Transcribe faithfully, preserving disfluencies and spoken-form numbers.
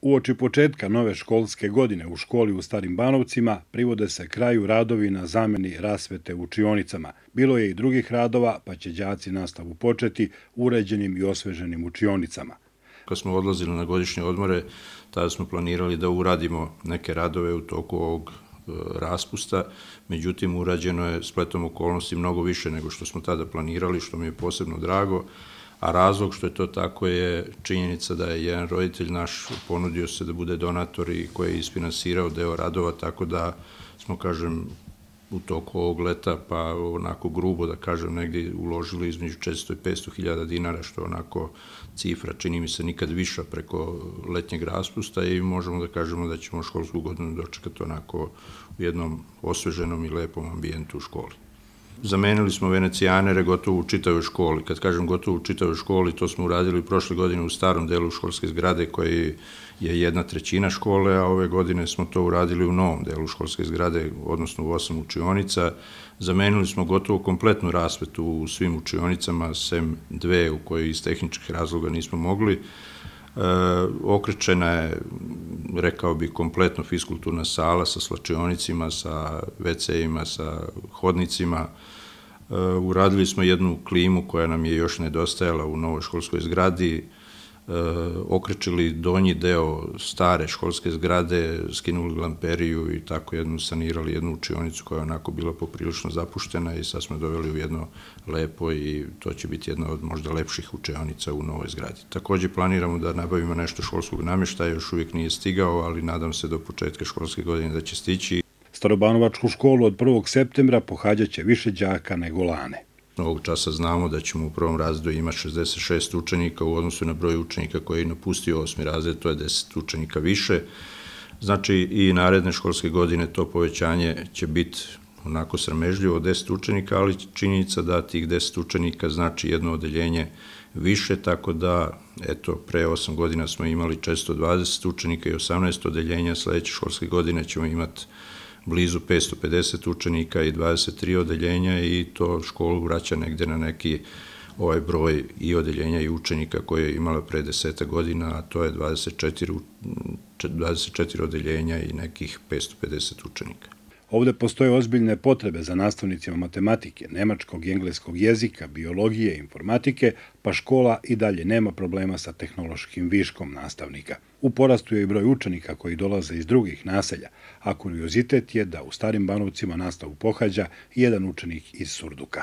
Uoči početka nove školske godine u školi u Starim Banovcima privode se kraju radovi na zameni rasvete u učionicama. Bilo je i drugih radova, pa će đaci nastavu početi uređenim i osveženim učionicama. Kad smo odlazili na godišnje odmore, tada smo planirali da uradimo neke radove u toku ovog raspusta, međutim urađeno je spletom okolnosti mnogo više nego što smo tada planirali, što mi je posebno drago, a razlog što je to tako je činjenica da je jedan roditelj naš ponudio se da bude donator i koji je isfinansirao deo radova, tako da smo, kažem, u toku ovog leta, pa onako grubo da kažem, negdje uložili između četiristo i petsto hiljada dinara, što je onako cifra, čini mi se, nikad viša preko letnjeg raspusta i možemo da kažemo da ćemo školsku godinu dočekati onako u jednom osveženom i lepom ambijentu u školi. Zamenili smo venecijanere gotovo u čitavoj školi. Kad kažem gotovo u čitavoj školi, to smo uradili prošle godine u starom delu školske zgrade koji je jedna trećina škole, a ove godine smo to uradili u novom delu školske zgrade, odnosno u osam učionica. Zamenili smo gotovo kompletnu rasvetu u svim učionicama, sem dve u koje iz tehničkih razloga nismo mogli. E, okrečena je, rekao bih, kompletno fiskulturna sala sa slačionicima, sa ve ce-ima, sa hodnicima. E, uradili smo jednu klimu koja nam je još nedostajala u novoj školskoj zgradi, e, okrečili donji deo stare školske zgrade, skinuli lamperiju i tako jednu sanirali jednu učionicu koja je onako bila poprilično zapuštena i sad smo doveli u jedno lepo i to će biti jedna od možda lepših učionica u novoj zgradi. Takođe planiramo da nabavimo nešto školskog namještaja, još uvijek nije stigao, ali nadam se do početka školske godine da će stići. Starobanovačku školu od prvog septembra pohađaće više đaka nego lane. Ovog časa znamo da ćemo u prvom razredu imati šezdeset šest učenika u odnosu na broj učenika koji je napustio osmi razred, to je deset učenika više. Znači i naredne školske godine to povećanje će biti onako sramežljivo deset učenika, ali činjenica da tih deset učenika znači jedno odeljenje više, tako da, eto, pre osam godina smo imali četiristo dvadeset učenika i osamnaest odeljenja, sledeće školske godine ćemo imati blizu petsto pedeset učenika i dvadeset tri odeljenja i to školu vraća negde na neki ovaj broj i odeljenja i učenika koje je imala pre deseta godina, a to je dvadeset četiri, dvadeset četiri odeljenja i nekih petsto pedeset učenika. Ovde postoje ozbiljne potrebe za nastavnicima matematike, nemačkog i engleskog jezika, biologije i informatike, pa škola i dalje nema problema sa tehnološkim viškom nastavnika. U porastu je i broj učenika koji dolaze iz drugih naselja, a kuriozitet je da u Starim Banovcima nastavu pohađa jedan učenik iz Surduka.